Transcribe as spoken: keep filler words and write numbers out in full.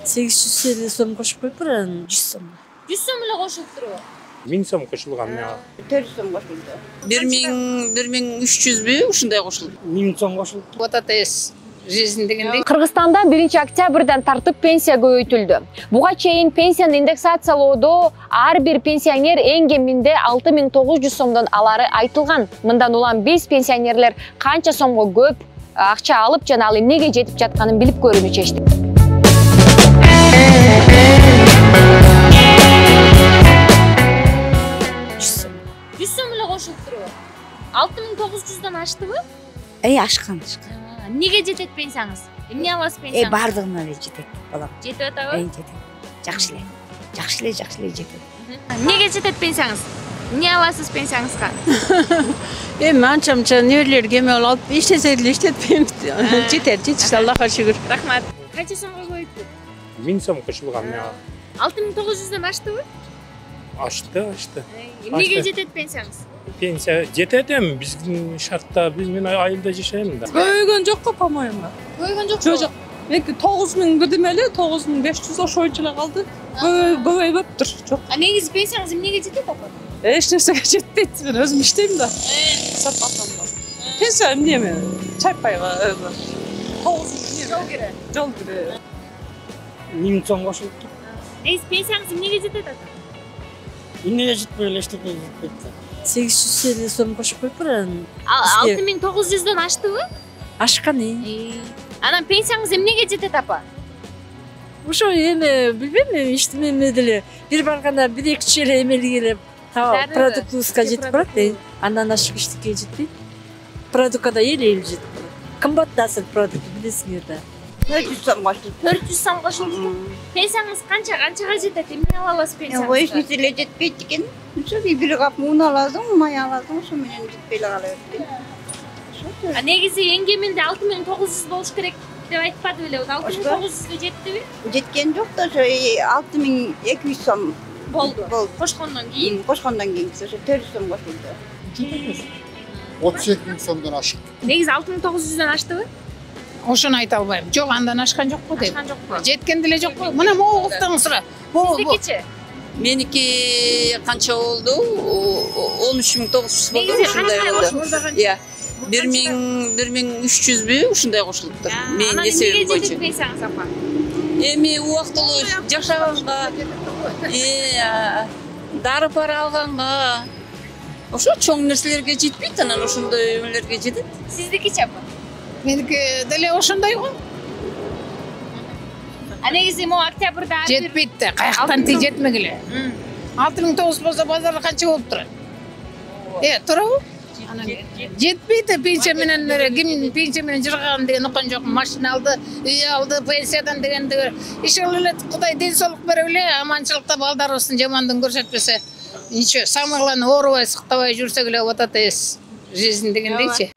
сегиз жүз элүү сом кошуп коюптур, анан жүз сом. жүз сом эле кошулуптурбу? миң сом кошулган мага. төрт жүз сом кошулду. бир миң бир миң үч жүзбү ушундай кошулду. миң сом кошулду. Вот это есть жизнь дегендей. Кыргызстанда биринчи октябрдан тартып пенсия көбөйтүлдү. Буга чейин пенсияны индексациялоодо ар бир пенсионер эң кеминде алты миң тогуз жүз сомдон алары айтылган. Мындан улам биз пенсионерлер канча сомго көп акча алып жана ал эмнеге жетип жатканын билип көрүүнү чечтик. жүз сом эле кошулуптурбу? алты миң тогуз жүздөн аштыбы? Эй, ашкан. Эмнеге жетет пенсияңыз? Эмне аласыз Эй, пенсияңыз? бардыгына эле жетет, балам. Жетип атабы? Эй, жетет. Жакшы эле. Жакшы эле, жакшы эле жетет. Эмнеге жетет пенсияңыз? Эмне аласыз пенсияңызга? Эми анча-мынча неберелерге эме алып, иштесек эле иштетпейм. Жетет, жетишти, Аллахка шүгүр. Рахмат. Канча сомго көбөйттү? миң сом кошулган мага. алты миң тогуз жүздөн аштыбы? Ашты, ашты. Эмнеге жетет пенсияңыз? Пенсия жетет эми биздин шартта, биз мен айылда жашайм да. Көбөйгөн жокко, по-моему. Көбөйгөн жокпу? Жок, жок. Эки тогуз миң бирдеме эле, тогуз миң беш жүз ошо боюнча эле калды. Көбөйбөптүр. Жок. А негизи пенсияңыз эмнеге жетет апа? Эч нерсеге жетпейт. Мен өзүм иштейм да. Сатпасам да. Пенсия эмне? Чайпайга тогуз миң Жол кире. жол кире. миң сом кошулду. Негизи пенсияңыз эмнеге жетет ата? Эмнеге жетпей эле эчтеке жетпейт. сегиз жүз элүү сом кошуп коюптур, анан алты миң тогуз жүздөн аштыбы? ашкан. э. Анан пенсияңыз эмнеге жетет апа? Ошо эме билбейм, эми иштеме эме деле бир барганда бир эки үч эле эмелиге эле продуктыбызга жетип барат. Андан ашык эчтеке жетпейт. Продуктка да эле эле жетип барат. Кымбат да азыр продукт, билесиңер да. төрт жүз сом кошулду. төрт жүз сом кошулду. Пенсияңыз канча канчага жетет? Эмне ала аласыз Эч пенсияңызга? нерсе эле жетпейт экен. Ошо бир кап мун аласың, май аласың, ошо менен жетпей эле кала берет. А негизи эң кеминде алты миң тогуз жүз болуш керек деп айтпады беле? алты миң тогуз жүзгө жеттиби? Жеткен жок да, ошо алты миң эки жүз сом Болду. болду. Кошкондон кийин Кошкондон кийин ошо төрт жүз сом кошулду. отуз эки миң сомдон ашык. негизи алты миң тогуз жүздөн аштыбы? Ошону айта албайм. Жок, андан ашкан жокпу дейм. Ашкан жокпу? Жеткен деле жокпу. Мына могу куптаң сура. Сиздикичи? Меники канча болду? он үч миң тогуз жүз болду. Негизи Ушундай канча болду. кошулду? Иә. бир миң бир миң үч жүзбү ушундай кошулуптур. Менин эсебим боюнча. Жетет пенсияңыз апа? Эми убактылуу жашаганга, э, дары пара алганга, ошо чоң нерселерге жетпейт, анан ошондой эмелерге жетет. Сиздикичи апа? Меники деле ошондой го. А негизи могу октябрда ар бир Жетпейт да, каяктан ти жетмегиле. алты миң тогуз болсо базарда канча болуп турат? Э, туурабы? Жетпейт да пенсия менен, ким пенсия менен жыргаган деген уккан жокмун. Машина алды, үй алды, пенсиядан дегенде иши эле Кудай ден соолук бере эле, аманчылыкта балдарыбыздын жамандыгын көрсөтпөсө. Ничего, самыйланып оорубай, сыктабай жүрсөк эле вот это жизнь дегендейчи.